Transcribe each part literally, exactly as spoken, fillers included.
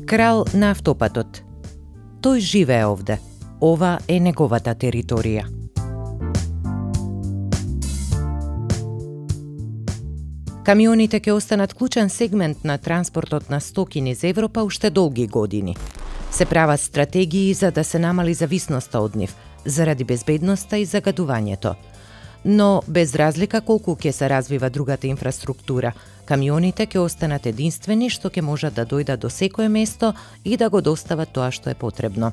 Крал на автопатот. Тој живее овде. Ова е неговата територија. Камионите ќе останат клучен сегмент на транспортот на стоки низ Европа уште долги години. Се прават стратегии за да се намали зависноста од нив, заради безбедноста и загадувањето. Но без разлика колку ќе се развива другата инфраструктура, камионите ќе останат единствени што ќе можат да дојдат до секое место и да го достават тоа што е потребно.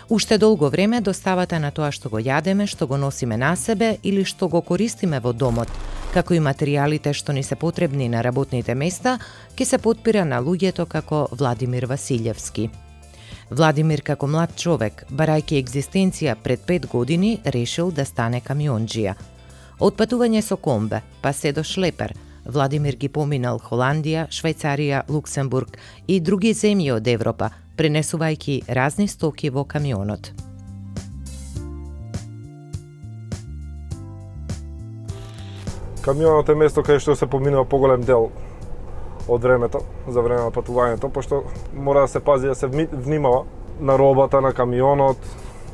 Уште долго време доставата на тоа што го јадеме, што го носиме на себе или што го користиме во домот, како и материјалите што ни се потребни на работните места, ќе се потпира на луѓето како Владимир Василевски. Владимир како млад човек, барајќи екзистенција пред пет години, решил да стане камионџија. Од патување со комбе, па се до шлепер, Владимир ги поминал Холандија, Швајцарија, Луксембург и други земји од Европа, пренесувајќи разни стоки во камионот. Камионот е место каде што се поминува поголем дел од времето, за време на патувањето, пошто мора да се пази да се внимава на робата на камионот,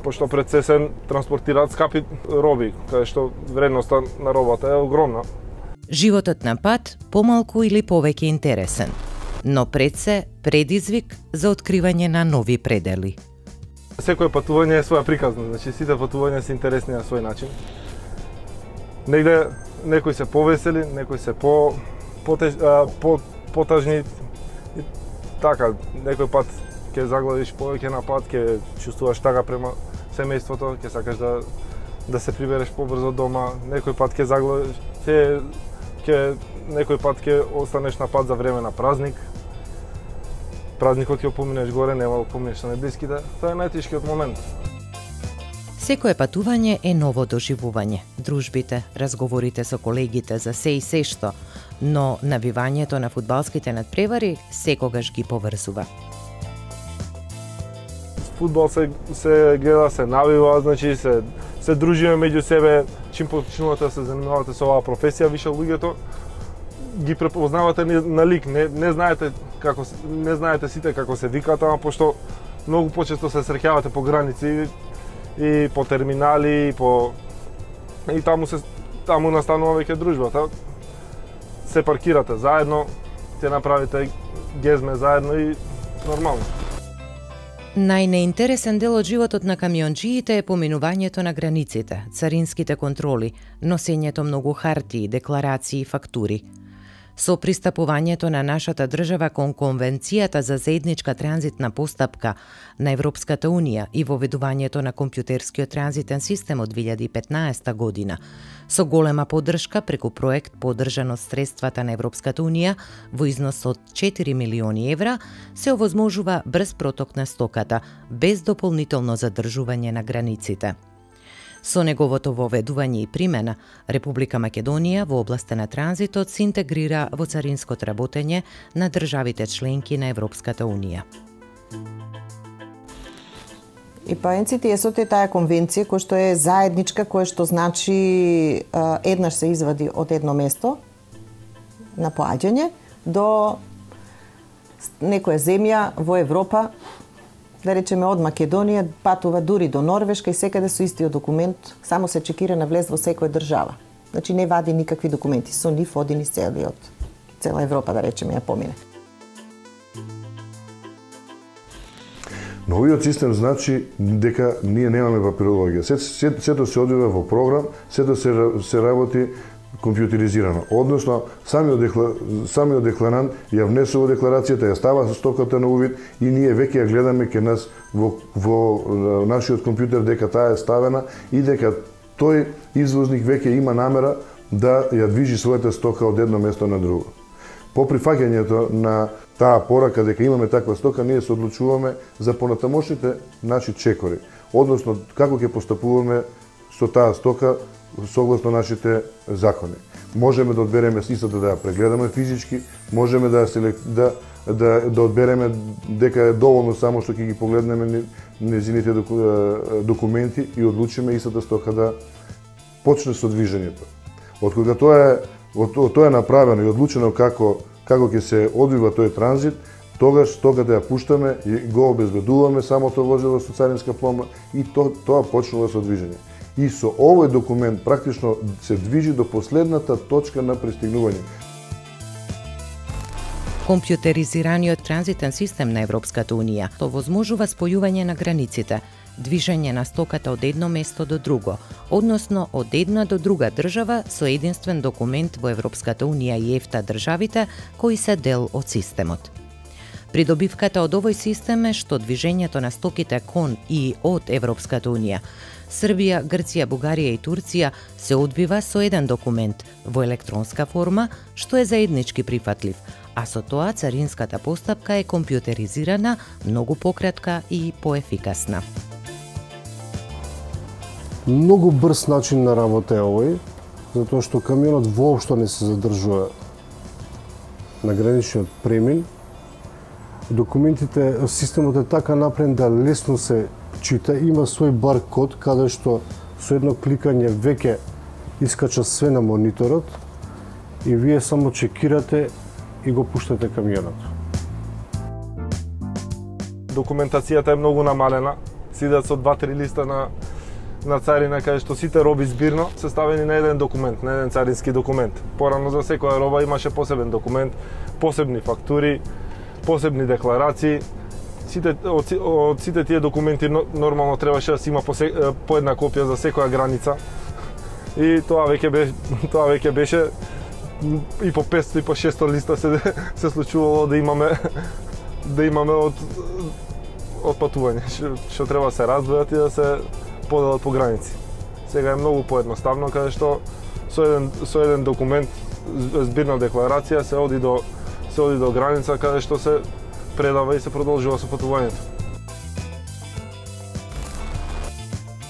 пошто пред се се транспортираат скапи роби, каде што вредноста на робата е огромна. Животот на пат помалку или повеќе интересен, но пред се предизвик за откривање на нови предели. Секое патување е своја приказна, значи сите патувања се интересни на свој начин. Негде некои се повесели, некои се по потеж, а, по потажни и така, некој пат ќе загладиш повеќе на пат, ќе чувствуваш тага према семејството, ќе сакаш да да се прибереш побрзо дома, некој пат ќе загладиш, ќе ќе некој пат ќе останеш на пат за време на празник. Празникот ќе поминеш горе, нема да поминеш на неблиските, тоа е најтешкиот момент. Секое патување е ново доживување, дружбите, разговорите со колегите за се и се што, но навивањето на фудбалските надпревари секогаш ги поврзува. Фудбал се се гледа, се навива, значи се се дружиме меѓу себе, чим почнувате да се занимавате со оваа професија, више луѓето ги препознавате на лик, не не знаете како не знаете сите како се викаат, ама пошто многу почесто се среќавате по граници и по терминали и по и таму се таму настанува веќе дружбата. Се паркирате заедно, ќе направите гезме заедно и нормално. Најнеинтересен дел од животот на камионџиите е поминувањето на границите, царинските контроли, носењето многу хартии, декларации и фактури. Со пристапувањето на нашата држава кон Конвенцијата за заедничка транзитна постапка на Европската Унија и воведувањето на компјутерскиот транзитен систем од две илјади и петнаесета година, со голема поддршка преку проект поддржан од средствата на Европската Унија во износ од четири милиони евра, се овозможува брз проток на стоката, без дополнително задржување на границите. Со неговото воведување и примена, Република Македонија во областа на транзитот се интегрира во царинското работење на државите членки на Европската Унија. И па ен си ти ес е таа конвенција која што е заедничка, која што значи еднаш се извади од едно место на поаѓање до некоја земја во Европа, да речеме од Македонија, патува дури до Норвешка и секаде со истиот документ, само се чекира на влез во секоја држава. Значи не вади никакви документи, со нив оди низ целиот, цела Европа, да речеме, ја помине. Новиот систем значи дека ние немаме папирологија. Сето, сето, сето се одвива во програм, сето се, се работи компјутеризирано. Односно, самиот, декла, самиот декларант ја внесува декларацијата, ја става со стоката на увид и ние веќе ја гледаме ке нас во, во нашиот компјутер дека таа е ставена и дека тој извозник веќе има намера да ја движи својата стока од едно место на друго. По прифаќањето на таа порака дека имаме таква стока, ние се одлучуваме за понатамошните наши чекори. Односно, како ќе постапуваме со таа стока согласно нашите закони. Можеме да одбереме истата да ја прегледаме физички, можеме да да да да одбереме дека е доволно само што ќе ги погледнеме незините документи и одлучиме истата стока да почне со движењето. Од кога тоа е од тоа е направено и одлучено како како ќе се одвива тој транзит, тогаш стоката ја пуштаме и го обезбедуваме самото возило со царинска пломба и то, тоа почнува со движење. И со овој документ практично се движи до последната точка на пристигнување. Компјутеризираниот транзитен систем на Европската Унија то возможува спојување на границите, движење на стоката од едно место до друго, односно од една до друга држава со единствен документ во Европската Унија и ЕФТА државите кои се дел од системот. Придобивката од овој систем е што движењето на стоките кон и од Европската Унија, Србија, Грција, Бугарија и Турција се одвива со еден документ во електронска форма, што е заеднички прифатлив, а со тоа царинската постапка е компјутеризирана, многу пократка и поефикасна. Многу брз начин на работа е овој, затоа што камионот воопшто не се задржува на граничниот премин. Документите, системот е така направен да лесно се чита, има свој баркод каде што со едно кликање веќе искача све на мониторот и вие само чекирате и го пуштате камионот. Документацијата е многу намалена, сидат со два-три листа на на царина каде што сите роби збирно се ставени на еден документ, на еден царински документ. Порано за секоја роба имаше посебен документ, посебни фактури, посебни декларации. Сите од, од сите тие документи нормално требаше да се има по, се, по една копија за секоја граница. И тоа веќе беше тоа веќе беше и по петсто и по шесто листа се се случувало да имаме да имаме од од патување што треба да се раздвојат и да се поделат по граници. Сега е многу поедноставно каде што со еден со еден документ, збирна декларација се оди до се оди до граница каде што се предава и се продолжува со патувањето.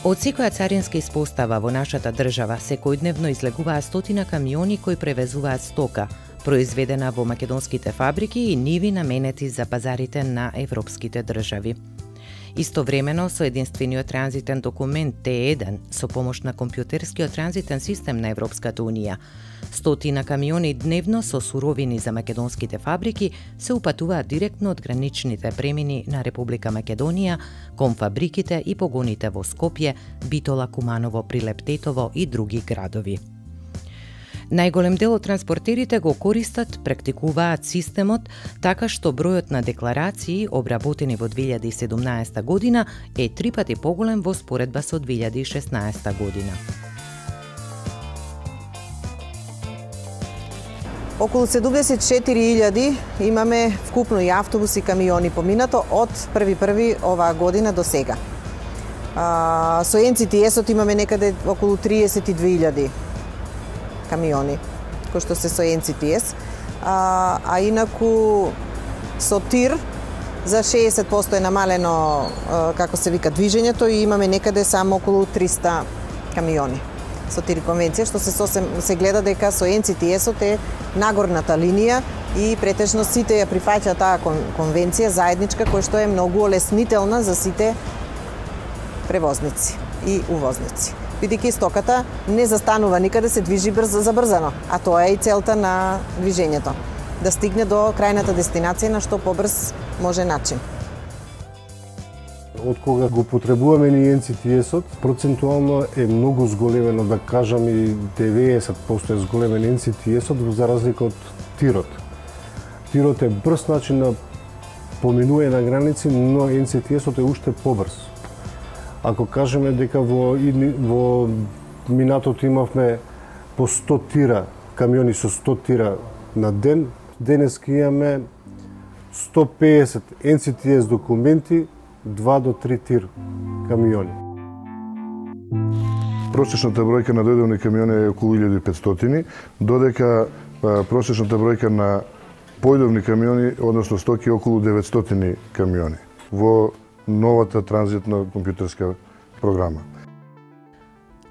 Од секоја царинска испостава во нашата држава секојдневно излегуваат стотина камиони кои превезуваат стока, произведена во македонските фабрики и ниви наменети за пазарите на европските држави. Истовремено со единствениот транзитен документ Т еден со помош на компјутерскиот транзитен систем на Европската Унија, стотина камиони дневно со суровини за македонските фабрики се упатуваат директно од граничните премини на Република Македонија кон фабриките и погоните во Скопје, Битола, Куманово, Прилеп, Тетово и други градови. Најголем дел од транспортерите го користат, практикуваат системот, така што бројот на декларации обработени во две илјади и седумнаесета година е три пати поголем во споредба со две илјади и шеснаесета година. Околу седумдесет и четири илјади имаме вкупно и автобуси и камиони поминато од први први оваа година до сега. А, со Ен Ци Ти Ес-от имаме некаде околу триесет и две илјади камиони, кои што се со Ен Ци Ти Ес, а, а инаку со ТИР за шеесет проценти е намалено, а, како се вика, движењето и имаме некаде само околу триста камиони со ТИР конвенција, што се сосем се гледа дека со Ен Ци Ти Ес-от е нагорната линија и претежно сите ја прифаќаат таа конвенција заедничка која што е многу олеснителна за сите превозници и увозници. Бидејќи стоката не застанува никаде, се движи брзо забрзано, а тоа е и целта на движењето, да стигне до крајната дестинација на што побрз може начин. Од кога го потребуваме ни Ен Ци Ти Ес-от, процентуално е многу зголемено, да кажам и деветдесет проценти е зголемен Ен Ци Ти Ес-от за разлика од ТИРот. ТИРот е брз начин на поминување на граници, но Ен Ци Ти Ес-от е уште побрз. Ако кажеме дека во, во минатото имавме по сто тира, камиони со сто тира на ден, денеска имаме сто педесет Ен Ци Ти Ес документи, два до три тир камиони. Просечната бројка на дојдовни камиони е околу илјада и петстотини, додека просечната бројка на појдовни камиони, односно стоки, е околу деветстотини камиони во новата транзитна компјутерска програма.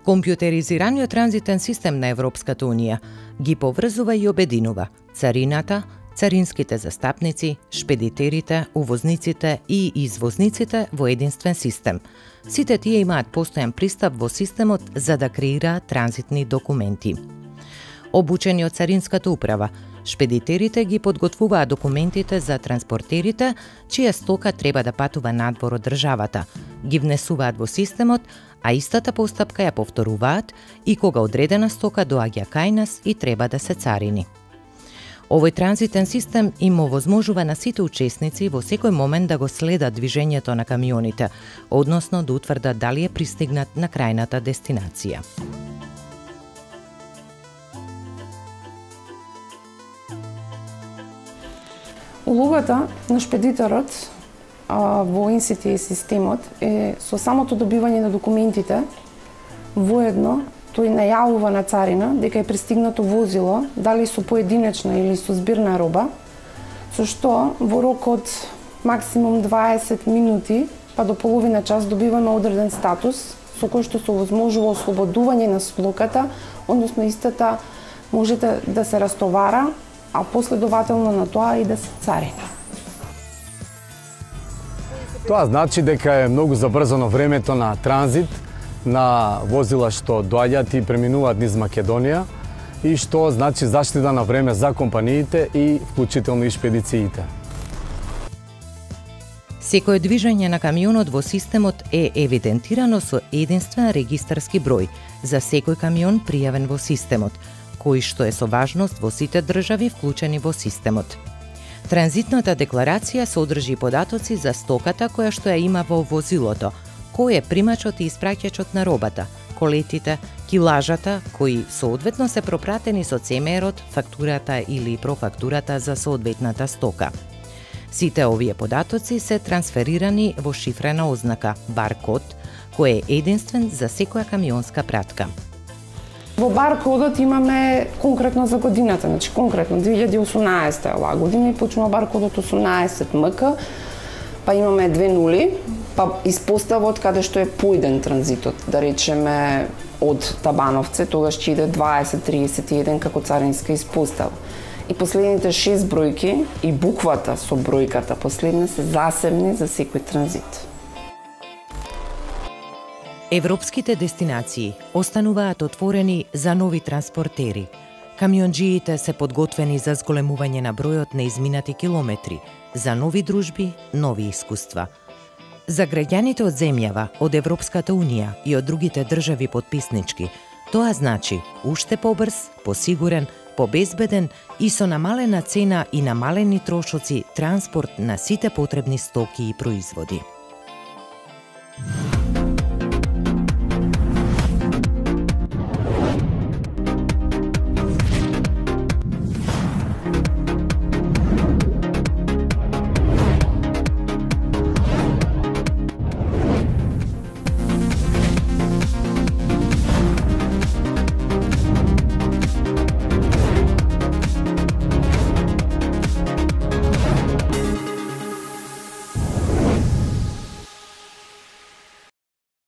Компјутеризираниот транзитен систем на Европската Унија ги поврзува и обединува царината, царинските застапници, шпедитерите, увозниците и извозниците во единствен систем. Сите тие имаат постојан пристап во системот за да креираат транзитни документи. Обучени од Царинската управа, Шпедитерите ги подготвуваат документите за транспортерите, чија стока треба да патува надвор од државата, ги внесуваат во системот, а истата постапка ја повторуваат и кога одредена стока доаѓа кај нас и треба да се царини. Овој транзитен систем им овозможува на сите учесници во секој момент да го следат движењето на камионите, односно да утврдат дали е пристигнат на крајната дестинација. Улогата на шпедиторот а, во ен си ти ес системот е со самото добивање на документите, воедно тој најавува на царина дека е пристигнато возило, дали со поединечна или со збирна роба, со што во рок од максимум дваесет минути па до половина час добиваме одреден статус со кој што се овозможува ослободување на стоката, односно истата може да се растовара, а последователно на тоа и да се царини. Тоа значи дека е многу забрзано времето на транзит на возила што доаѓаат и преминуваат низ Македонија и што значи заштита на време за компаниите и вклучително и шпедициите. Секое движење на камионот во системот е евидентирано со единствен регистарски број за секој камион пријавен во системот, кој што е со важност во сите држави вклучени во системот. Транзитната декларација содржи податоци за стоката која што ја има во возилото, кој е примачот и испраќачот на робата, колетите, килажата, кои соодветно се пропратени со це ем ер-от, фактурата или профактурата за соодветната стока. Сите овие податоци се трансферирани во шифрена ознака, баркод, кој е единствен за секоја камионска пратка. Во баркодот имаме конкретно за годината, значи конкретно две илјади и осумнаесета оваа година и почнува баркодот осумнаесет ем ка, па имаме две нули, па испоставот каде што е поиден транзитот, да речеме од Табановце, тогаш ќе иде дваесет триесет и еден како царинска испостава. И последните шест бројки и буквата со бројката последна се засебни за секој транзит. Европските дестинации остануваат отворени за нови транспортери. Камионџиите се подготвени за зголемување на бројот на изминати километри, за нови дружби, нови искуства. За граѓаните од земјава, од Европската Унија и од другите држави потписнички, тоа значи уште побрз, посигурен, побезбеден и со намалена цена и намалени трошоци транспорт на сите потребни стоки и производи.